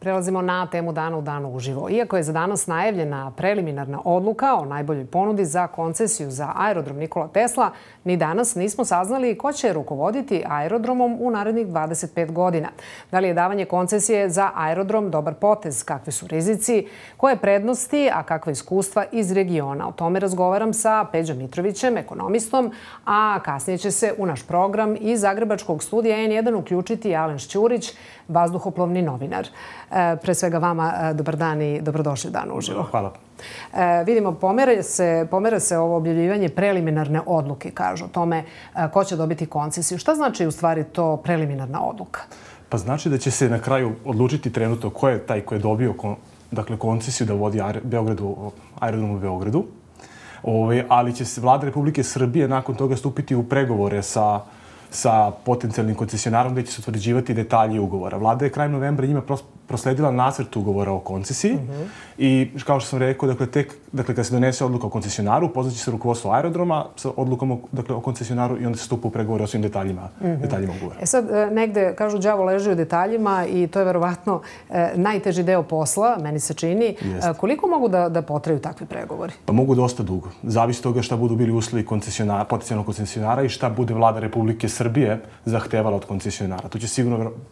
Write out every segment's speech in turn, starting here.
Prelazimo na temu Dana u danu uživo. Iako je za danas najavljena preliminarna odluka o najboljoj ponudi za koncesiju za aerodrom Nikola Tesla, ni danas nismo saznali ko će rukovoditi aerodromom u narednih 25 godina. Da li je davanje koncesije za aerodrom dobar potez, kakvi su rizici, koje prednosti, a kakva iskustva iz regiona? O tome razgovaram sa Peđom Mitrovićem, ekonomistom, a kasnije će se u naš program iz Zagrebačkog studija N1 uključiti Alen Šćurić, vazduhoplovni novinar. Pre svega vama dobar dan i dobrodošli u Dan uživo. Hvala. Vidimo, pomera se ovo objavljivanje preliminarne odluke, kažu o tome ko će dobiti koncesiju. Šta znači u stvari to preliminarna odluka? Pa znači da će se na kraju odlučiti trenutno ko je taj ko je dobio koncesiju da vodi aerodrom u Beogradu, ali će se Vlada Republike Srbije nakon toga stupiti u pregovore sa potencijalnim koncesionarom gde će se utvrđivati detalji ugovora. Vlada je krajem novembra njima prosledila nacrt ugovora o koncesiji i kao što sam rekao, kada se donese odluka o koncesionaru, upoznaće se rukovodstvo aerodroma sa odlukom o koncesionaru i onda se stupa u pregovore o svim detaljima ugovora. Sad, negde, kažu, đavo leži u detaljima i to je verovatno najteži deo posla, meni se čini. Koliko mogu da potraju takvi pregovori? Pa mogu dosta dugo. Zavisi toga šta budu bili uslovi potencijalnog koncesionara i šta bude Vlada Republike Srbije zahtevala od koncesionara.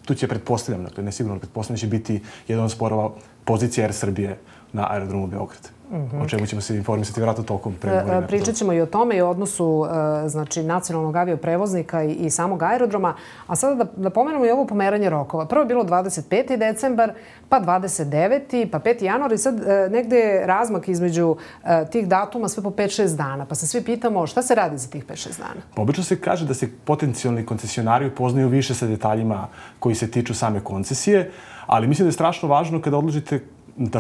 Tu će pretpostavljam, dakle ne sigurno pretpostavljam, će biti jedan od sporova pozicije Air Srbije na aerodromu Beograd. O čemu ćemo se informisati vjerojatno tokom pregovora. Pričat ćemo i o tome i o odnosu nacionalnog avioprevoznika i samog aerodroma. A sada da pomenemo i ovo pomeranje rokova. Prvo je bilo 25. decembar, pa 29. pa 5. januar i sad negde je razmak između tih datuma sve po 5-6 dana. Pa se svi pitamo šta se radi za tih 5-6 dana? Obično se kaže da se potencijalni koncesionari upoznaju više sa detaljima koji se tiču same koncesije, ali mislim da je strašno važno kada odlučite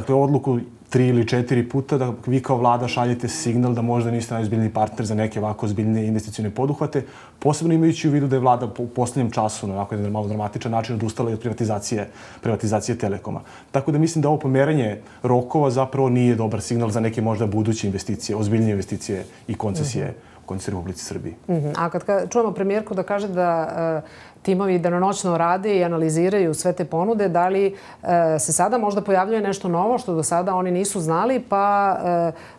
odluku 3 ili 4 puta da vi kao vlada šaljete signal da možda niste najozbiljniji partner za neke ovako ozbiljne investicione poduhvate, posebno imajući u vidu da je vlada u poslednjem času na ovako jedan malo dramatičan način odustala i od privatizacije Telekoma. Tako da mislim da ovo pomeranje rokova zapravo nije dobar signal za neke možda buduće investicije, ozbiljnije investicije i koncesije u Republici Srbiji. A kad čujemo premijerku da kaže da timovi danonoćno rade i analiziraju sve te ponude, da li se sada možda pojavljuje nešto novo što do sada oni nisu znali, pa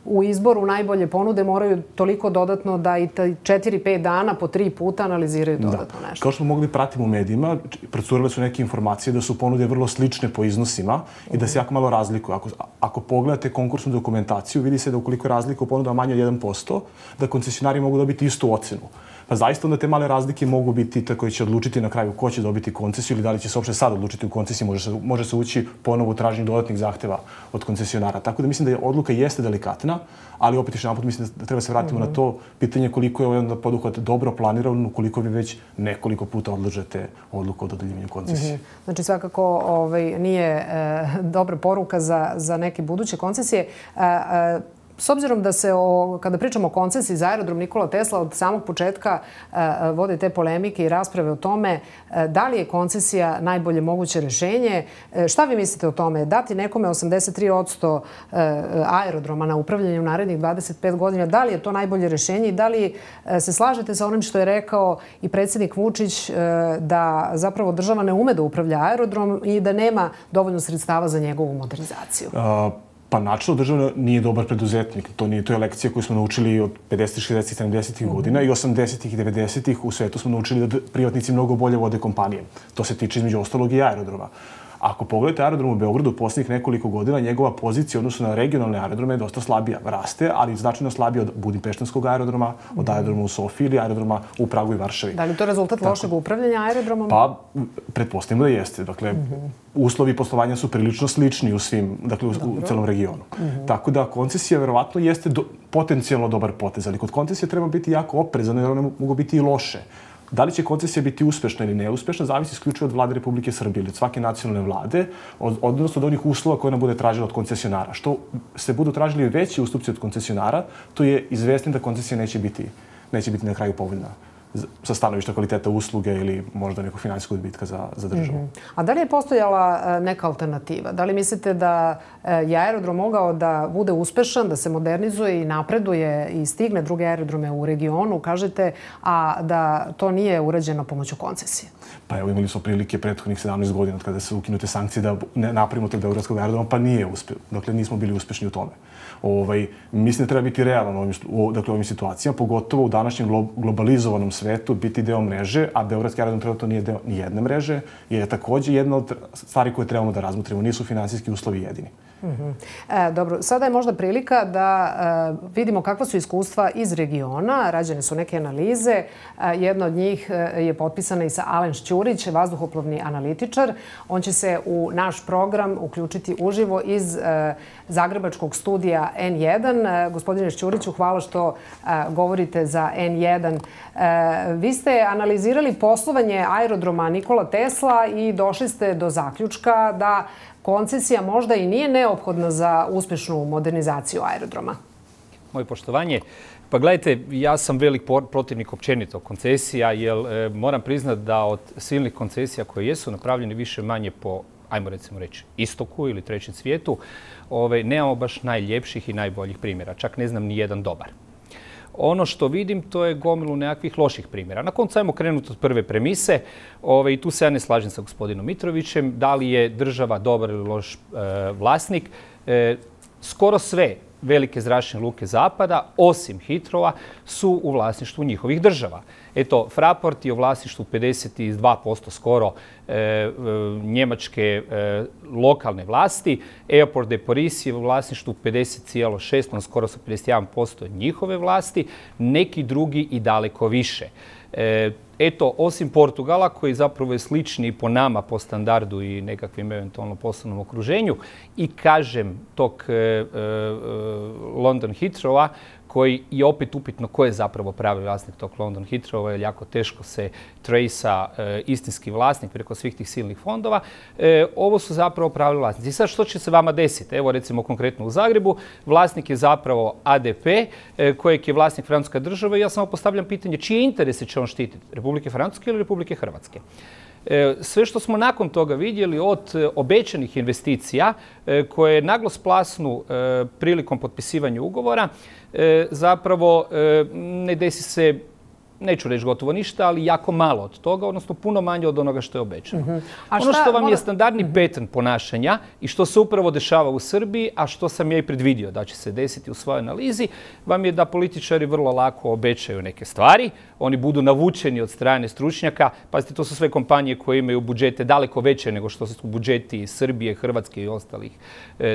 u izboru najbolje ponude moraju toliko dodatno da i 4-5 dana po 3 puta analiziraju dodatno nešto? Kao što smo mogli pratiti u medijima, procurile su neke informacije da su ponude vrlo slične po iznosima i da se jako malo razlikuju. Ako pogledate konkursnu dokumentaciju, vidi se da ukoliko je razlika u ponudama manje od 1%, da koncesionari mogu dobiti istu ocenu. Pa zaista onda te male razlike mogu biti te koji će odlučiti na kraju ko će dobiti koncesiju ili da li će se uopšte sad odlučiti u koncesiji, može se ući ponovo u traženju dodatnih zahteva od koncesionara. Tako da mislim da odluka jeste delikatna, ali opet još jedanput mislim da treba se vratiti na to pitanje koliko je ovaj poduhvat dobro planiran, ukoliko vi već nekoliko puta odlažete odluku o dodeljivanju koncesije. Znači svakako nije dobra poruka za neke buduće koncesije. S obzirom da se, kada pričamo o koncesiji za aerodrom Nikola Tesla, od samog početka vode te polemike i rasprave o tome da li je koncesija najbolje moguće rešenje. Šta vi mislite o tome? Dati nekome 83% aerodroma na upravljanje u narednih 25 godina, da li je to najbolje rešenje i da li se slažete sa onim što je rekao i predsjednik Vučić da zapravo država ne ume da upravlja aerodrom i da nema dovoljno sredstava za njegovu modernizaciju? Pa načelno država nije dobar preduzetnik. To je lekcija koju smo naučili od 50, 60, 70 godina i 80 i 90 u svetu smo naučili da privatnici mnogo bolje vode kompanije. To se tiče između ostalog i aerodroma. Ako pogledate aerodrom u Beogradu u posljednjih nekoliko godina, njegova pozicija odnosno na regionalne aerodrome je dosta slabija. Raste, ali značajno slabija od Budimpeštanskog aerodroma, od aerodroma u Sofiji ili aerodroma u Pragu i Varšavi. Da li to rezultat lošeg upravljanja aerodromom? Pa, pretpostavimo da jeste. Dakle, uslovi poslovanja su prilično slični u celom regionu. Tako da koncesija verovatno jeste potencijalno dobar potez, ali kod koncesije treba biti jako oprezan jer one mogu biti i loše. Da li će koncesija biti uspešna ili neuspešna, zavisi isključivo od Vlade Republike Srbije ili od svake nacionalne vlade, odnosno od onih uslova koje ona bude tražila od koncesionara. Što se budu tražili veći ustupci od koncesionara, to je izvesno da koncesija neće biti na kraju povoljna sa stanovišta kvaliteta usluge ili možda nekog finansijskog odbitka za državu. A da li je postojala neka alternativa? Da li mislite da je aerodrom mogao da bude uspešan, da se modernizuje i napreduje i stigne druge aerodrome u regionu, kažete, a da to nije urađeno pomoću koncesije? Pa evo, imali smo prilike prethodnih 17 godina od kada su ukinute sankcije da ne napravimo tog beogradskog aerodroma, pa nije uspeo. Dakle, nismo bili uspešni u tome. Mislim da treba biti realan u ovim situacijama, pogotovo u današnjem globalizovanom svetu, biti deo mreže, a beogradski aerodrom trenutno nije deo ni jedne mreže, je takođe jedna od stvari koje trebamo da razmotrimo. Nisu finansijski uslovi jedini. Dobro, sada je možda prilika da vidimo kakva su iskustva iz regiona. Rađene su neke analize. Jedna od njih je potpisana i sa Alen Šćurić, vazduhoplovni analitičar. On će se u naš program uključiti uživo iz zagrebačkog studija N1. Gospodine Šćuriću, hvala što govorite za N1. Vi ste analizirali poslovanje aerodroma Nikola Tesla i došli ste do zaključka da koncesija možda i nije neophodna za uspešnu modernizaciju aerodroma. Moje poštovanje. Pa gledajte, ja sam velik protivnik općenito koncesija, jer moram priznati da od silnih koncesija koje jesu napravljene više manje po, ajmo recimo reći, istoku ili trećem svijetu, nemamo baš najljepših i najboljih primjera. Čak ne znam ni jedan dobar. Ono što vidim, to je gomilu nekakvih loših primjera. Na koncu ajmo krenuti od prve premise. I tu se ja ne slažem sa gospodinom Mitrovićem. Da li je država dobar ili loš vlasnik? Skoro sve velike zračne luke zapada, osim Heathrova, su u vlasništvu njihovih država. Eto, Fraport je u vlasništvu 52% skoro njemačke lokalne vlasti. Airport de Paris je u vlasništvu 50,6%, skoro sa 51% njihove vlasti. Neki drugi i daleko više. Eto, osim Portugala, koji zapravo je slični po nama, po standardu i nekakvim eventualno poslovnom okruženju, i kažem tog London Heathrowa, koji je opet upitno ko je zapravo pravi vlasnik tog London Heathrowa, jer jako teško se trejsa istinski vlasnik preko svih tih silnih fondova. Ovo su zapravo pravi vlasnici. I sad što će se vama desiti? Evo recimo konkretno u Zagrebu, vlasnik je zapravo ADP, kojeg je vlasnik francuska država, i ja samo postavljam pitanje čije interese će on štititi? Republike Francuske ili Republike Hrvatske? Sve što smo nakon toga vidjeli od obećanih investicija koje naglo splasnu prilikom potpisivanja ugovora, zapravo ne desi se, neću reći gotovo ništa, ali jako malo od toga, odnosno puno manje od onoga što je obećano. Ono što vam je standardni pattern ponašanja i što se upravo dešava u Srbiji, a što sam ja i predvidio da će se desiti u svojoj analizi, vam je da političari vrlo lako obećaju neke stvari, oni budu navučeni od strane stručnjaka. Pazite, to su sve kompanije koje imaju budžete daleko veće nego što su budžeti Srbije, Hrvatske i ostalih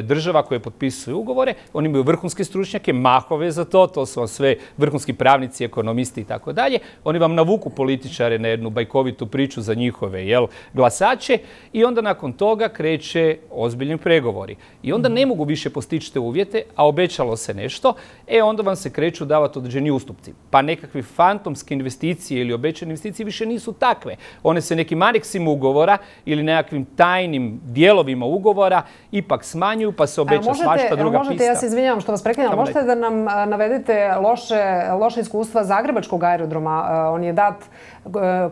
država koje potpisuju ugovore. Oni imaju vrhunske stručnjake, mahove za to, to su vam sve vrhunski pravnici, ekonomisti i tako dalje. Oni vam navuku političare na jednu bajkovitu priču za njihove glasače i onda nakon toga kreće ozbiljni pregovori. I onda ne mogu više postići te uvjete, a obećalo se nešto, onda vam se kreću davati određeni ustupci. Pa nekakvi fantomski investicije ili obećane investicije više nisu takve. One se nekim aneksima ugovora ili nekakvim tajnim dijelovima ugovora ipak smanjuju, pa se obeća svašta druga pista. Ja se izvinjavam što vas prekidam. Možete da nam navedete loše iskustva zagrebačkog aerodroma? On je dat,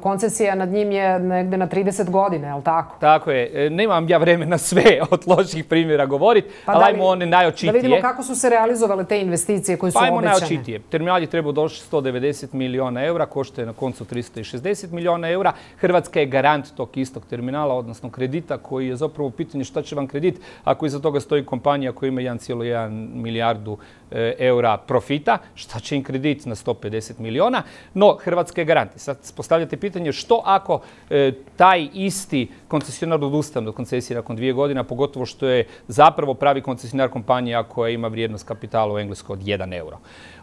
koncesija nad njim je negde na 30 godina, je li tako? Tako je. Nemam ja vremena sve od loših primjera govoriti, ali ajmo one najočitije. Da vidimo kako su se realizovale te investicije koje su obećane. Pa ajmo najočitije. Terminal je trebao doći 190 miliona eura, košta na koncu 360 miliona eura. Hrvatska je garant tog istog terminala, odnosno kredita, koji je zapravo pitanje šta će vam kredit ako iza toga stoji kompanija koja ima 1,1 milijardu eura profita, šta će im kredit na 150 miliona, no Hrvatska je garant. Sad postavljate pitanje što ako taj isti koncesionar odustane od koncesije nakon 2 godine, pogotovo što je zapravo pravi koncesionar kompanija koja ima vrijednost kapitala u Engleskoj od 1 euro.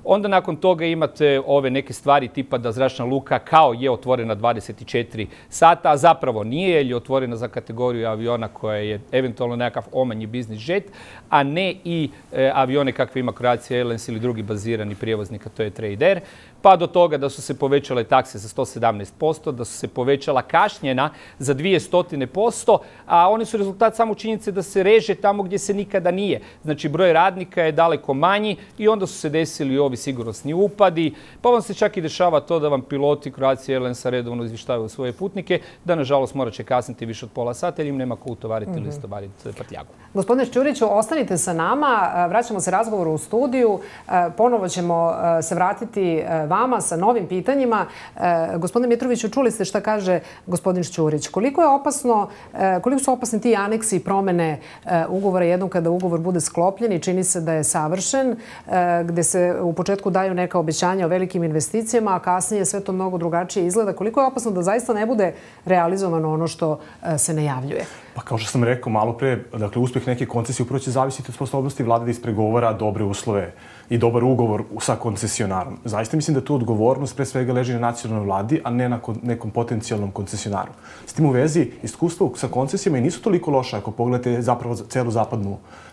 Onda nakon toga imate ove neke stvari tipa da zračna luka kao je otvorena 24 sata, a zapravo nije, jer je otvorena za kategoriju aviona koja je eventualno nekakav omanji business jet, a ne i avione kakve ima Croatia Airlines ili drugi bazirani prijevoznik, a to je Trader. Pa do toga da su se povećale takse za 117%, da su se povećala kašnjena za 200%, a oni su rezultat samo činjenice da se reže tamo gdje se nikada nije. Znači, broj radnika je daleko manji i onda su se desili ovi sigurnosni upadi, pa vam se čak i dešava to da vam piloti Croatia Airlinesa redovno izvještavaju svoje putnike, da nažalost morat će kasniti više od pola sata jer im nema ko utovariti ili istovariti prtljagu. Gospodine Šćuriću, ostanite sa nama, vraćamo se razgovoru u studiju, ponovo ćemo se vratiti vama sa novim pitanjima. Gospodine Mitroviću, čuli ste šta kaže gospodin Šćurić. Koliko su opasni ti aneksi i promene ugovora jednom kada ugovor bude sklopljen i čini se da je savršen, gde se u početku daju neka obećanja o velikim investicijama, a kasnije sve to mnogo drugačije izgleda. Koliko je opasno da zaista ne bude realizovano ono što se najavljuje? Pa kao što sam rekao malo pre, dakle, uspjeh neke koncesije upravo će zavisiti od sposobnosti vlade da ispregovara dobre uslove i dobar ugovor sa koncesionarom. Zaista mislim da tu odgovornost pre svega leži na nacionalnoj vladi, a ne na nekom potencijalnom koncesionaru. S tim u vezi, iskustvo sa koncesijama i nisu toliko loša ako pogledate zapravo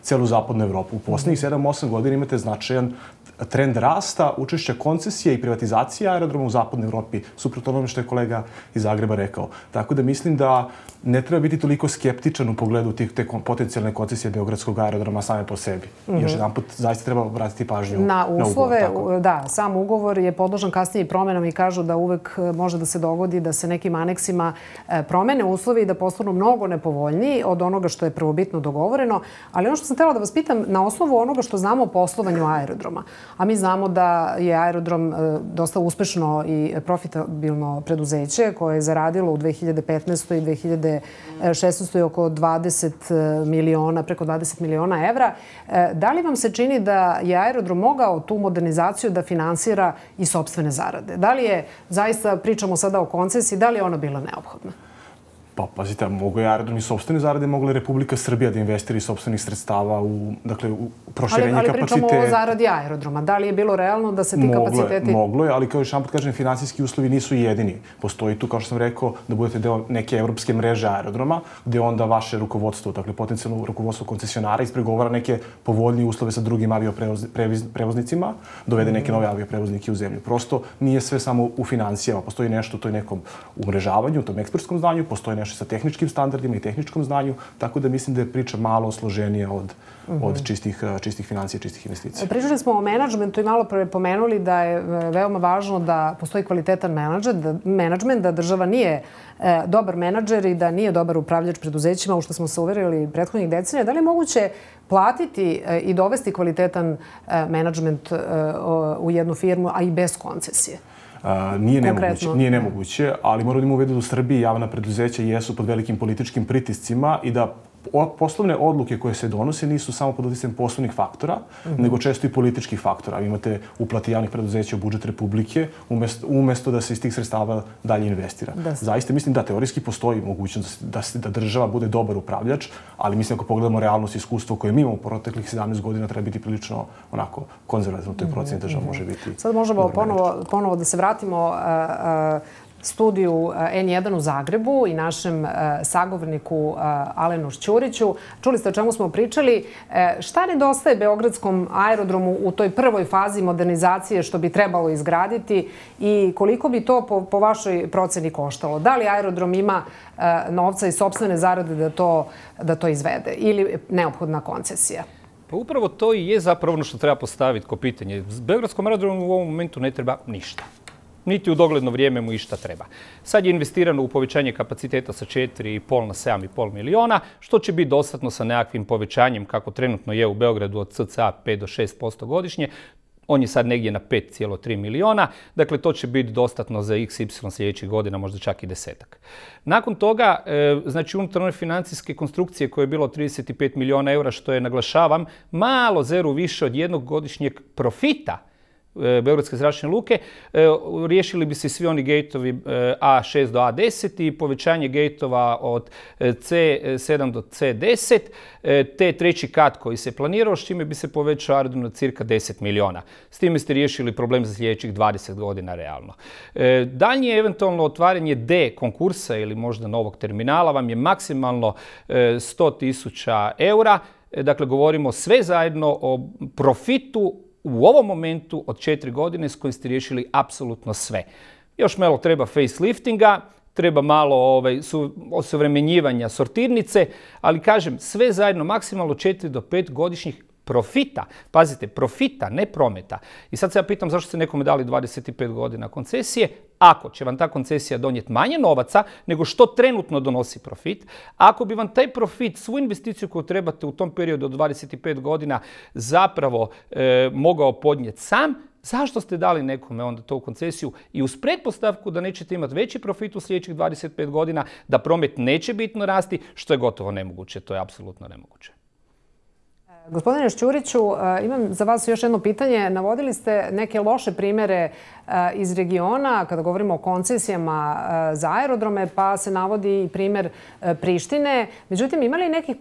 celu zapadnu Evropu. U posljednjih 7-8 godina imate značajan trend rasta, učešća koncesije i privatizacije aerodroma u zapadnoj Evropi, suprotno onome što je kolega iz Zagreba rekao. Tako da mislim da ne treba biti toliko skeptičan u pogledu te potencijalne koncesije Beogradskog aerodroma same po sebi. Još jedan put zaista treba vratiti pažnju na uslove. Ugovor, da, sam ugovor je podložan kasnije promenama i kažu da uvek može da se dogodi da se nekim aneksima promene uslovi i da postanu mnogo nepovoljniji od onoga što je prvobitno dogovoreno. Ali ono što sam htjela da vas pitam, na osnovu onoga što znamo o poslovanju aerodroma, a mi znamo da je aerodrom dosta uspešno i profitabilno preduzeće koje je zaradilo u 2015. i 2016. oko 20 miliona, preko 20 miliona evra. Da li vam se čini da je aerodrom mogao tu modernizaciju da finansira i sopstvene zarade? Da li je, zaista pričamo sada o koncesiji, da li je ona bila neophodna? Pa, pazite, mogo je aerodrom i sopstvene zarade, mogla je Republika Srbija da investira iz sopstvenih sredstava u proširenje kapaciteta. Ali pričamo o zaradi aerodroma. Da li je bilo realno da se ti kapaciteti... Moglo je, ali kao još jedan put kažem, finansijski uslovi nisu jedini. Postoji tu, kao što sam rekao, da budete deo neke evropske mreže aerodroma, gde onda vaše rukovodstvo, dakle potencijalno rukovodstvo koncesionara ispregovara neke povoljnije uslove sa drugim avioprevoznicima, dovede neke nove avioprevoznike u zemlju. Prosto nije sve samo u financijama. Postoji nešto u toj nekom umrežavanju, u tom ekspertskom znanju, postoji nešto sa tehničkim standardima i tehničkom znanju, tako da mislim da je priča malo složenija od čistih financija, čistih investicija. Pričali smo o menadžmentu i malo pomenuli da je veoma važno da postoji kvalitetan menadžment, da država nije dobar menadžer i da nije dobar upravljač preduzećima, u što smo se uverili prethodnih decenija. Da li je moguće platiti i dovesti kvalitetan menadžment u jednu firmu, a i bez koncesije? Nije nemoguće, ali moramo da imamo u vidu da u Srbiji javna preduzeća jesu pod velikim političkim pritiscima i da poslovne odluke koje se donose nisu samo pod utjecajem poslovnih faktora, nego često i političkih faktora. Vi imate uplati javnih preduzeća u budžet Republike, umjesto da se iz tih sredstava dalje investira. Zaista mislim da teorijski postoji mogućnost da država bude dobar upravljač, ali mislim ako pogledamo realnost i iskustvo koje mi imamo u proteklih 17 godina, treba biti prilično onako konzervativno. To je procjena država može biti. Sad možemo ponovo da se vratimo studiju N1 u Zagrebu i našem sagovorniku Alenu Šćuriću. Čuli ste o čemu smo pričali. Šta nedostaje Beogradskom aerodromu u toj prvoj fazi modernizacije što bi trebalo izgraditi i koliko bi to po vašoj proceni koštalo? Da li aerodrom ima novca i sopstvene zarade da to izvede ili neophodna koncesija? Pa upravo to i je zapravo ono što treba postaviti kao pitanje. Beogradskom aerodromu u ovom momentu ne treba ništa. Niti u dogledno vrijeme mu išta treba. Sad je investirano u povećanje kapaciteta sa 4,5 na 7,5 miliona, što će biti dostatno sa nekakvim povećanjem, kako trenutno je u Beogradu od cca 5 do 6% godišnje. On je sad negdje na 5,3 miliona. Dakle, to će biti dostatno za XY sljedećih godina, možda čak i 10-ak. Nakon toga, znači unutar one financijske konstrukcije koje je bilo 35 miliona eura, što je, naglašavam, malo zeru više od jednog godišnjeg profita Beogradske zračne luke, riješili bi se svi oni gejtovi A6 do A10 i povećanje gejtova od C7 do C10, te treći kat koji se planirao, s čime bi se povećao aerodrom na cirka 10 miliona. S time ste riješili problem za sljedećih 20 godina realno. Daljnje eventualno otvaranje D konkursa ili možda novog terminala vam je maksimalno 100.000 eura. Dakle, govorimo sve zajedno o profitu u ovom momentu od 4 godine s kojim ste riješili apsolutno sve. Još malo treba faceliftinga, treba malo osuvremenjivanja sortirnice, ali kažem, sve zajedno maksimalno 4 do 5 godišnjih profita, pazite, profita, ne prometa. I sad se ja pitam zašto ste nekome dali 25 godina koncesije, ako će vam ta koncesija donijeti manje novaca nego što trenutno donosi profit, ako bi vam taj profit, svu investiciju koju trebate u tom periodu od 25 godina zapravo mogao podnijeti sam, zašto ste dali nekome onda to u koncesiju i uz pretpostavku da nećete imati veći profit u sljedećih 25 godina, da promet neće bitno rasti, što je gotovo nemoguće, to je apsolutno nemoguće. Gospodine Šćuriću, imam za vas još jedno pitanje. Navodili ste neke loše primjere iz regiona kada govorimo o koncesijama za aerodrome, pa se navodi i primjer Prištine. Međutim, ima li nekih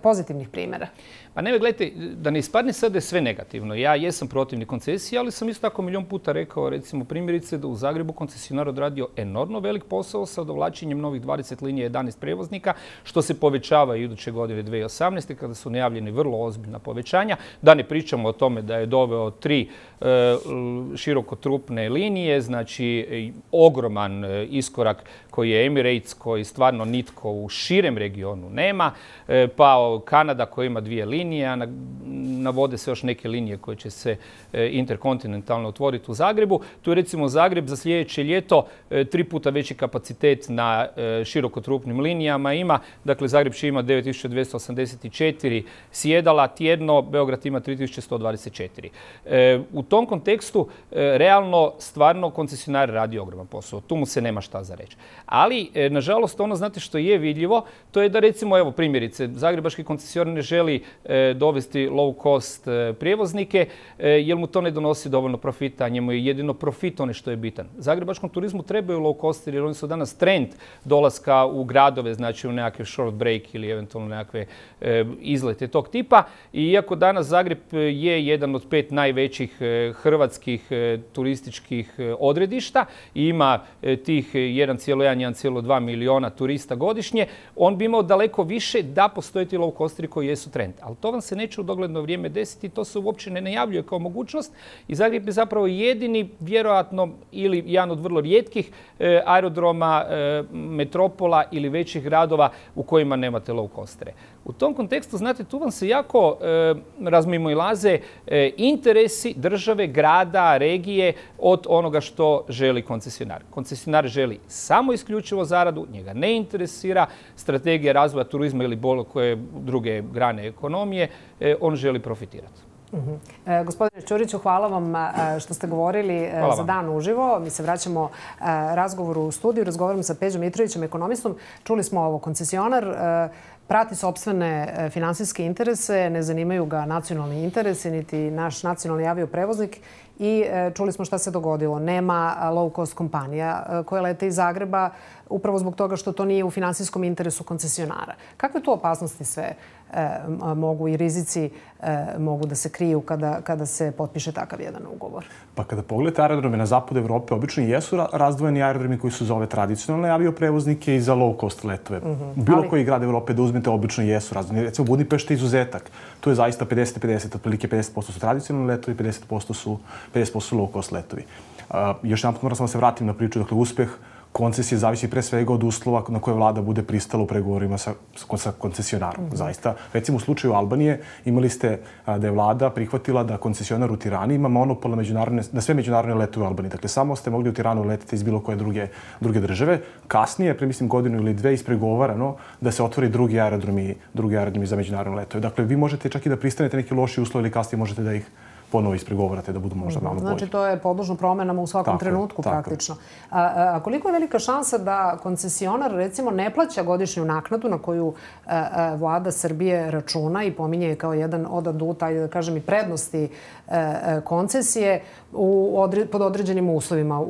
pozitivnih primjera? Pa ne, gledajte, da ne ispadne sad da je sve negativno. Ja jesam protivnik koncesije, ali sam isto tako milion puta rekao, recimo primjerice, da u Zagrebu koncesionar odradio enormno velik posao sa dovlačenjem novih 20 linija 11 prevoznika, što se povećava i iduće godine 2018. kada su najavljeni vrlo ozbiljna povećanja. Da ne pričamo o tome da je doveo 3 širokotrupne linije, znači ogroman iskorak koji je Emirates, koji stvarno nitko u širem regionu nema, pa Kanada koja ima 2 linije, a navode se još neke linije koje će se interkontinentalno otvoriti u Zagrebu. Tu je recimo Zagreb za sljedeće ljeto 3 puta veći kapacitet na širokotrupnim linijama ima. Dakle, Zagreb će ima 9284 sjedala tjedno, Beograd ima 3124. U tom kontekstu realno stvarno koncesionar radi ogroman posao. Tu mu se nema šta za reći. Ali, nažalost, ono znate što je vidljivo, to je da recimo, evo primjerice, zagrebački koncesionar ne želi dovesti low cost prijevoznike jer mu to ne donosi dovoljno profita, njemu je jedino profit ono što je bitan. Zagrebačkom turizmu trebaju low cost jer oni su danas trend dolaska u gradove, znači u nekakve short break ili eventualno nekakve izlete tog tipa. I iako danas Zagreb je jedan od 5 najvećih hrvatskih turističkih odredišta i ima tih 1,1-1,2 miliona turista godišnje, on bi imao daleko više da postoje ti low costeri koji jesu trend. Ali to vam se neće u dogledno vrijeme desiti, to se uopće ne najavljuje kao mogućnost i Zagreb je zapravo jedini, vjerojatno, ili jedan od vrlo rijetkih aerodroma, metropola ili većih gradova u kojima nemate low costere. U tom kontekstu, znate, tu vam se jako razmimoilaze interesi države, grada, regije od onoga što želi koncesionar. Koncesionar želi samo isključivo zaradu, njega ne interesira strategija razvoja turizma ili bilo koje druge grane ekonomije, on želi profitirati. Gospodine Ćuriću, hvala vam što ste govorili za Dan uživo. Mi se vraćamo razgovoru u studiju. Razgovaramo sa Peđom Mitrovićem, ekonomistom. Čuli smo ovo, koncesionar prati sopstvene finansijske interese, ne zanimaju ga nacionalni interesi, niti naš nacionalni avioprevoznik. I čuli smo šta se dogodilo. Nema low cost kompanija koje lete iz Zagreba upravo zbog toga što to nije u finansijskom interesu koncesionara. Kakve tu opasnosti sve mogu i rizici mogu da se kriju kada se potpiše takav jedan ugovor? Pa kada pogledate aerodrome na zapadu Evrope, obično jesu razdvojeni aerodromi koji su za ove tradicionalne avioprevoznike i za low cost letove. Bilo koji grad Evrope da uzmete, obično jesu razdvojeni. Recimo Budimpešta je izuzetak. Tu je zaista 50-50, otprilike 50% su tradicionalni letovi, 50% su low cost letovi. Još jedan put moram samo se vratim na priču. Dakle, uspeh koncesije zavisi pre svega od uslova na koje vlada bude pristala u pregovorima sa koncesionarom. Zaista, recimo u slučaju Albanije imali ste da je vlada prihvatila da koncesionar u Tirani ima monopol na sve međunarodne letove u Albaniji. Dakle, samo ste mogli u Tiranu letiti iz bilo koje druge države. Kasnije, pre mislim godinu ili dve, ispregovarano da se otvori drugi aerodromi za međunarodne letove. Dakle, vi možete čak i da pristanete neki loši uslovi ili kasnije možete da ih ponovo ispregovarate da budu možda malo bolji. Znači, to je podložno promenama u svakom trenutku praktično. A koliko je velika šansa da koncesionar, recimo, ne plaća godišnju naknadu na koju vlada Srbije računa i pominje je kao jedan od aduta, da kažem, i prednosti koncesije pod određenim uslovima,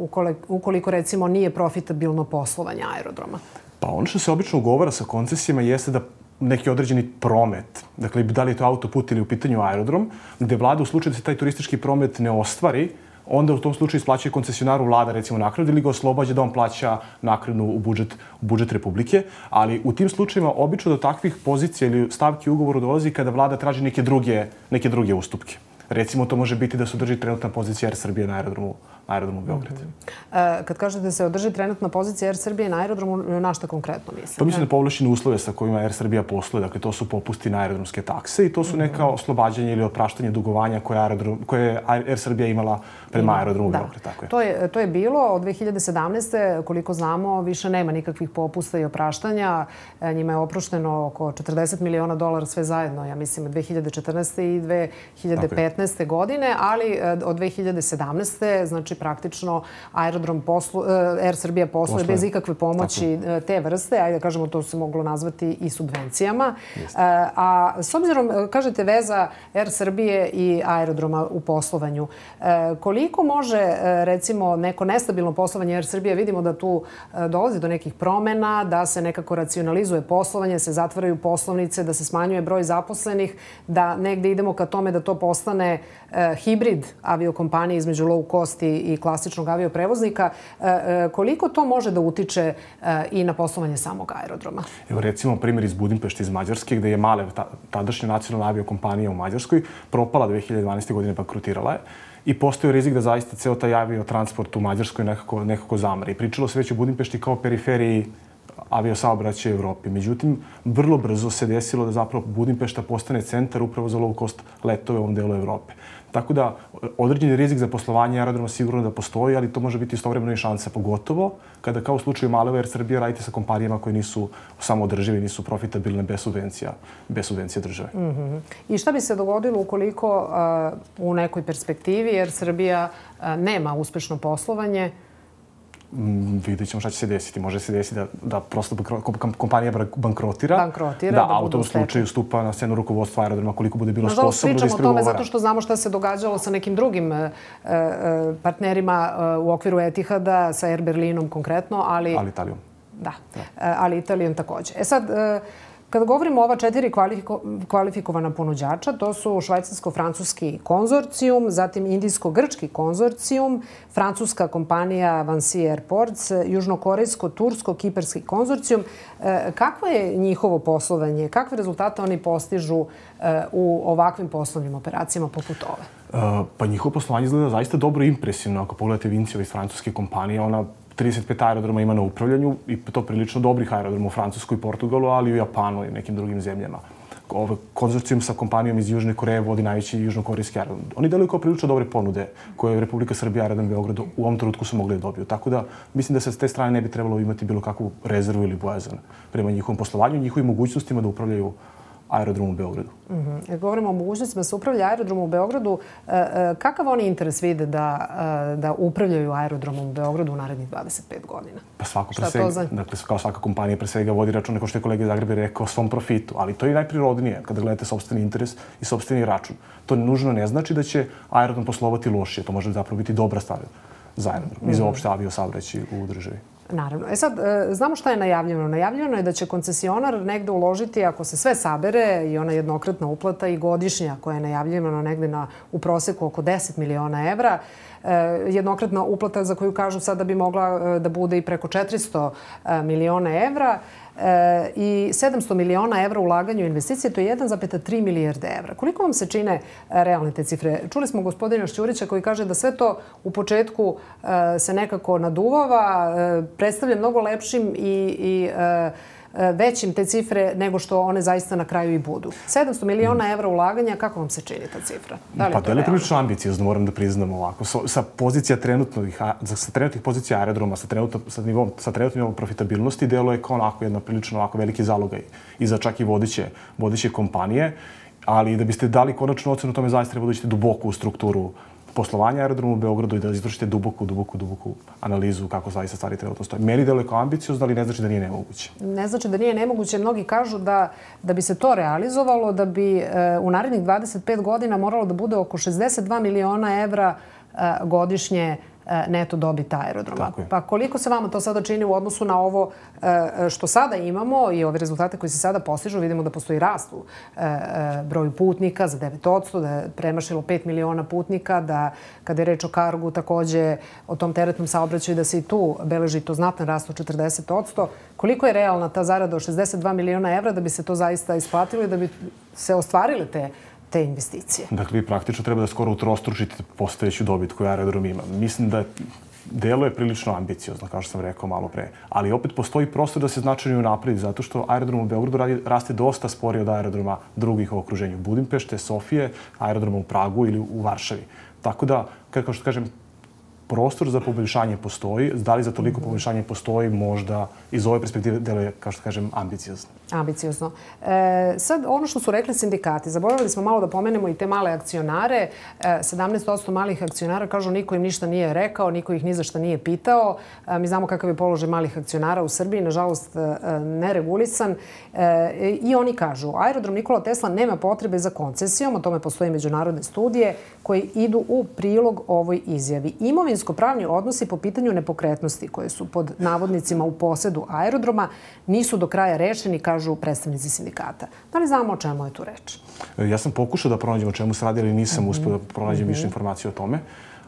ukoliko, recimo, nije profitabilno poslovanje aerodroma? Pa ono što se obično ugovara sa koncesijama jeste da neki određeni promet, dakle, da li je to autoput ili u pitanju aerodrom, gde vlada u slučaju da se taj turistički promet ne ostvari, onda u tom slučaju isplaćuje koncesionaru vlada, recimo, naknadu ili ga oslobađa da on plaća naknadu u budžet Republike. Ali u tim slučajima obično do takvih pozicija ili stavki u ugovoru dolazi kada vlada traži neke druge ustupke. Recimo, to može biti da se drži trenutna pozicija Air Srbije na aerodromu Beograd. Kad kažete da se održi trenutna pozicija Air Srbije na aerodromu, na šta konkretno mislite? To mislim na povlašćene uslove sa kojima Air Srbija posluje. Dakle, to su popusti na aerodromske takse i to su neka oslobađanje ili opraštanje dugovanja koje je Air Srbija imala prema aerodromu Beograd. Tako je. To je bilo od 2017. Koliko znamo, više nema nikakvih popusta i opraštanja. Njima je oprošteno oko $40 miliona sve zajedno, ja mislim, 2014. i 2015. godine, ali od 2017. znači praktično Air Srbija posluje bez ikakve pomoći te vrste. Ajde da kažemo, to se moglo nazvati i subvencijama. A s obzirom, kažete, veza Air Srbije i aerodroma u poslovanju, koliko može, recimo, neko nestabilno poslovanje Air Srbije, vidimo da tu dolazi do nekih promena, da se nekako racionalizuje poslovanje, se zatvaraju poslovnice, da se smanjuje broj zaposlenih, da negde idemo ka tome da to postane hibrid aviokompanije između low cost i klasičnog avioprevoznika. Koliko to može da utiče i na poslovanje samog aerodroma? Evo recimo primjer iz Budimpešte, iz Mađarske, gde je Malev, tadašnja nacionalna aviokompanija u Mađarskoj, propala 2012. godine, bankrotirala je. I postoji rizik da zaista ceo taj aviotransport u Mađarskoj nekako zamre. I pričalo se već o Budimpešti kao periferiji aviosaobraćaja u Evropi. Međutim, vrlo brzo se desilo da zapravo Budimpešta postane centar upravo za low cost letove u ovom delu Evrope. Tako da, određeni rizik za poslovanje aerodroma sigurno da postoji, ali to može biti istovremeno i šansa, pogotovo kada, kao u slučaju Maleva Air Srbije, radite sa kompanijama koje nisu samoodržive, nisu profitabilne bez subvencija države. I šta bi se dogodilo ukoliko u nekoj perspektivi Air Srbija nema uspešno poslovanje? Vidjet ćemo šta će se desiti. Može se desiti da prosto kompanija bankrotira, a u tom slučaju stupa na scenu rukovodstva aerodroma koliko bude bilo sposobno da ispregovara. Pričamo o tome zato što znamo šta se događalo sa nekim drugim partnerima u okviru Etihada, sa Air Berlinom konkretno, ali... Ali Italijom. Da, ali Italijom takođe. E sad, kada govorimo o ova 4 kvalifikovana ponuđača, to su švajcarsko-francuski konzorcijum, zatim indijsko-grčki konzorcijum, francuska kompanija Vinci Airports, južnokorejsko-tursko-kiparski konzorcijum. Kakvo je njihovo poslovanje? Kakve rezultate oni postižu u ovakvim poslovnim operacijama poput ove? Pa njihovo poslovanje izgleda zaista dobro i impresivno. Ako pogledate Vinciova iz francuske kompanije, ona 35 aerodroma ima na upravljanju i to prilično dobrih aerodroma u Francuskoj i Portugalu, ali i u Japanu i nekim drugim zemljama. Konzorcijum sa kompanijom iz Južne Koreje vodi najveći južnokorejski aerodrom. Oni deluju kao prilično dobre ponude koje Republika Srbija, aerodrom Beogradu u ovom trenutku su mogli da dobiju. Tako da mislim da se s te strane ne bi trebalo imati bilo kakvu rezervu ili bojazan prema njihovom poslovanju i njihovim mogućnostima da upravljaju aerodrom u Beogradu. Govorimo o mogućnostima da se upravlja aerodromom u Beogradu. Kakav oni interes vide da upravljaju aerodromom u Beogradu u narednih 25 godina? Pa svako pre svega, dakle, kao svaka kompanija pre svega vodi račun, kao što je kolega Zagrebi rekao, o svom profitu. Ali to je najprirodnije kada gledate sopstveni interes i sopstveni račun. To nužno ne znači da će aerodrom poslovati lošije. To može zapravo biti dobra stvar za aerodrom i za uopšte aviosaobraćaj u državi. Naravno. E sad, znamo šta je najavljeno. Najavljeno je da će koncesionar negde uložiti, ako se sve sabere, i ona jednokratna uplata i godišnja koja je najavljena negde u proseku oko 10 miliona evra. Jednokratna uplata za koju kažu sada bi mogla da bude i preko 400 miliona evra i 700 miliona evra ulaganju investicije, to je 1,3 milijarde evra. Koliko vam se čine realne te cifre? Čuli smo gospodina Šćurića koji kaže da sve to u početku se nekako naduvava, predstavlja mnogo lepšim i većim te cifre nego što one zaista na kraju i budu. 700 miliona evra ulaganja, kako vam se čini ta cifra? Pa to je prilično ambiciozno, moram da priznam ovako. Sa pozicija trenutnih pozicija aerodroma, sa trenutnim profitabilnosti, delo je kao onako jedna prilično veliki zalogaj i za čak i vodeće kompanije, ali da biste dali konačnu ocenu tome zaista treba da uđete duboko u strukturu poslovanja aerodroma u Beogradu i da izvršite duboku analizu kako zaista stvari trenutno stoje. Meni deluje kao ambiciozno, ali ne znači da nije nemoguće. Ne znači da nije nemoguće. Mnogi kažu da bi se to realizovalo, da bi u narednih 25 godina moralo da bude oko 62 miliona evra godišnje neto dobit aerodroma. Pa koliko se vama to sada čini u odnosu na ovo što sada imamo i ove rezultate koji se sada postižu? Vidimo da postoji rast u broju putnika za 9%, da je premašilo 5 miliona putnika, da kada je reč o kargu takođe o tom teretnom saobraćaju da se i tu beleži to znatan rast od 40%. Koliko je realna ta zarada od 62 miliona evra da bi se to zaista isplatilo i da bi se ostvarile te investicije? Dakle, vi praktično treba da skoro utrostručite postojeću dobit koju aerodrom ima. Mislim da delo je prilično ambiciozno, kao što sam rekao malo pre. Ali opet postoji prostor da se značajno unapredi, zato što aerodrom u Beogradu raste dosta sporije od aerodroma drugih u okruženju. Budimpešte, Sofije, aerodroma u Pragu ili u Varšavi. Tako da, kao što kažem, prostor za poboljšanje postoji. Da li za toliko poboljšanje postoji, možda iz ove perspektive deluje, kao što kažem, ambiciozno. Ambiciozno. Sad, ono što su rekli sindikati, zaboravili smo malo da pomenemo i te male akcionare. 17% malih akcionara kažu niko im ništa nije rekao, niko ih ni za šta nije pitao. Mi znamo kakav je položaj malih akcionara u Srbiji, nažalost neregulisan. I oni kažu, aerodrom Nikola Tesla nema potrebe za koncesijom, o tome postoje međunarodne studije koje idu u prilog ovoj izjavi. Imovinsko-pravni odnosi po pitanju nepokretnosti koje su pod navodnicima u posedu aerodroma nisu do kraja rešeni, kažu predstavnici sindikata. Da li znamo o čemu je tu reč? Ja sam pokušao da pronađem o čemu se radi, ali nisam uspio da pronađem više informacije o tome.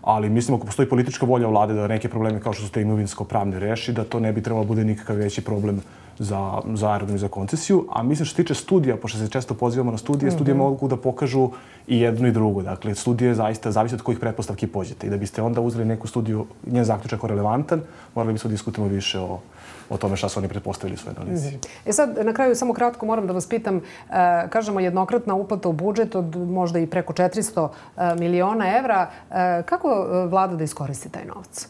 Ali mislim, ako postoji politička volja vlade da neke probleme kao što su te imovinsko-pravne reši, da to ne bi trebalo bude nikakav veći problem za aerodrom i za koncesiju. A mislim što se tiče studija, pošto se često pozivamo na studije, studije mogu da pokažu i jedno i drugo. Dakle, studije zaista zavise od kojih pretpostavki pođete. I da biste onda uzeli neku studiju, njen zaključak o relevantan, morali bismo diskutujemo više o tome šta su oni pretpostavili u svojoj analizi. Sad, na kraju, samo kratko moram da vas pitam, kažemo jednokratna uplata u budžet od možda i preko 400 miliona evra. Kako vlada da iskoristi taj novac?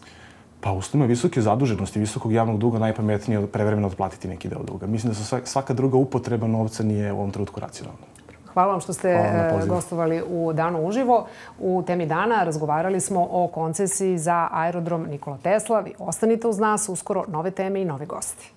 Pa u uslovima visoke zaduženosti, visokog javnog duga najpametnije prevremeno otplatiti neki deo duga. Mislim da svaka druga upotreba novca nije u ovom trenutku racionalna. Hvala vam što ste gostovali u Danu uživo. U temi dana razgovarali smo o koncesiji za aerodrom Nikola Tesla. Vi ostanite uz nas, uskoro nove teme i novi gosti.